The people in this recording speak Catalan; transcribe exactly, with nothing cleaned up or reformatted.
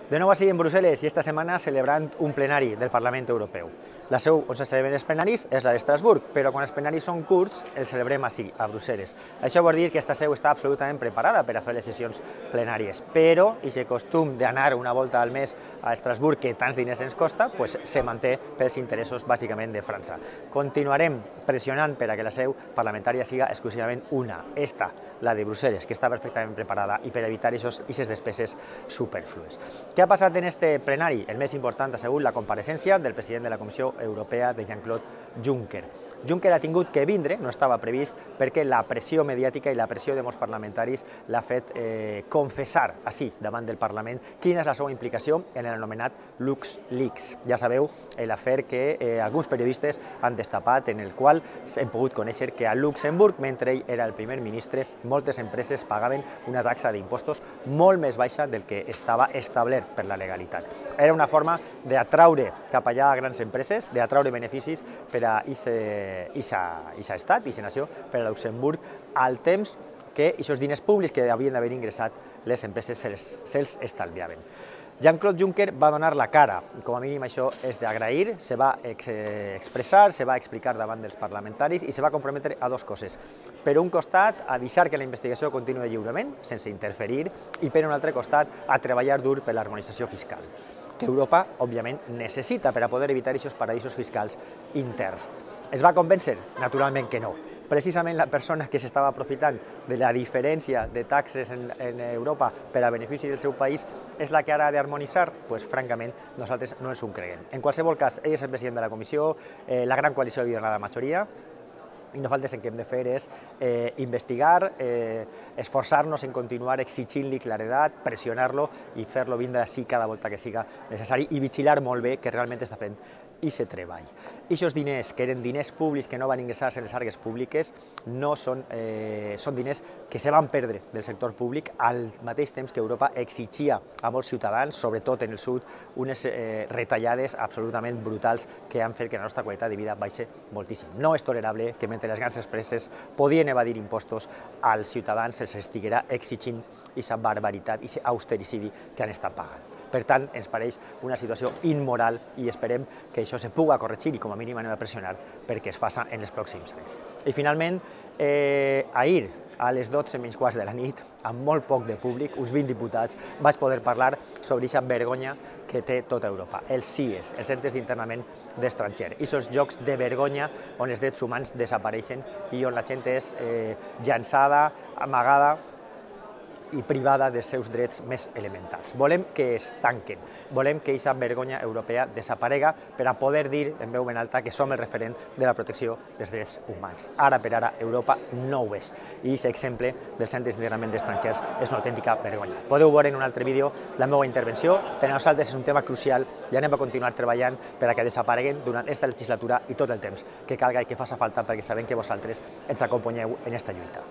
De nou així en Brussel·les i esta setmana celebrant un plenari del Parlament Europeu. La seu on se celebren els plenaris és la d'Estrasburg, però quan els plenaris són curts els celebrem així, a Brussel·les. Això vol dir que esta seu està absolutament preparada per a fer les sessions plenàries, però aquest costum d'anar una volta al mes a Estrasburg, que tants diners ens costa, pues, se manté pels interessos bàsicament de França. Continuarem pressionant per a que la seu parlamentària siga exclusivament una, esta, la de Brussel·les, que està perfectament preparada i per evitar aquestes despeses superflues. Què ha passat en este plenari? El més important ha sigut la compareixença del president de la Comissió Europea, de Jean-Claude Juncker. Juncker ha tingut que vindre, no estava previst, perquè la pressió mediàtica i la pressió de molts parlamentaris l'ha fet eh, confessar, així, davant del Parlament, quina és la seva implicació en l'anomenat LuxLeaks. Ja sabeu, l'afer que eh, alguns periodistes han destapat, en el qual hem pogut conèixer que a Luxemburg, mentre ell era el primer ministre, moltes empreses pagaven una taxa d'impostos molt més baixa del que estava establert per la legalitat. Era una forma d'atraure cap allà a grans empreses, d'atraure beneficis per a aquest estat, aquesta nació, per a Luxemburg, al temps que aquests diners públics que havien d'haver ingressat les empreses se'ls estalviaven. Jean-Claude Juncker va donar la cara, i com a mínim això és d'agrair, se va expressar, se va explicar davant dels parlamentaris i se va comprometre a dues coses. Per un costat, a deixar que la investigació continuï lliurement, sense interferir, i per un altre costat, a treballar dur per l'harmonització fiscal, que Europa, òbviament, necessita per a poder evitar aquests paradisos fiscals interns. Es va convèncer? Naturalment que no. Precisament la persona que s'estava aprofitant de la diferència de taxes en, en Europa per a benefici del seu país és la que ara ha d'harmonitzar? Pues, francament, nosaltres no ens ho creguem. En qualsevol cas, ell és el president de la Comissió, eh, la gran coalició havia la majoria, i nosaltres el que hem de fer és eh, investigar, eh, esforçar-nos en continuar exigint-li claredat, pressionar-lo i fer-lo vindre així cada volta que siga necessari i vigilar molt bé que realment està fent aquest treball. Aquests diners, que eren diners públics que no van ingressar-se en les arques públiques, no són, eh, són diners que se van perdre del sector públic al mateix temps que Europa exigia a molts ciutadans, sobretot en el sud, unes eh, retallades absolutament brutals que han fet que la nostra qualitat de vida baixi moltíssim. No és tolerable que mentre les grans empreses podien evadir impostos, als ciutadans se'ls estiguera exigint aquesta barbaritat, aquest austericidi que han estat pagant. Per tant, ens pareix una situació immoral i esperem que això se pugui corregir i com a mínim anem a pressionar perquè es faci en els pròxims anys. I finalment, eh, ahir, a les dotze menys quarts de la nit, amb molt poc de públic, uns vint diputats, vaig poder parlar sobre aquesta vergonya que té tota Europa, els C I E S, els centres d'internament d'estrangers, aquests llocs de vergonya on els drets humans desapareixen i on la gent és eh, llançada, amagada i privada dels seus drets més elementals. Volem que es tanquen, volem que aquesta vergonya europea desaparega per a poder dir en veu ben alta que som el referent de la protecció dels drets humans. Ara per ara Europa no ho és i aquest exemple dels centres d'internament d'estrangers és una autèntica vergonya. Podeu veure en un altre vídeo la meva intervenció, per a nosaltres és un tema crucial i anem a continuar treballant per a que desapareguen durant aquesta legislatura i tot el temps que calga i que faci falta perquè sabem que vosaltres ens acompanyeu en aquesta lluita.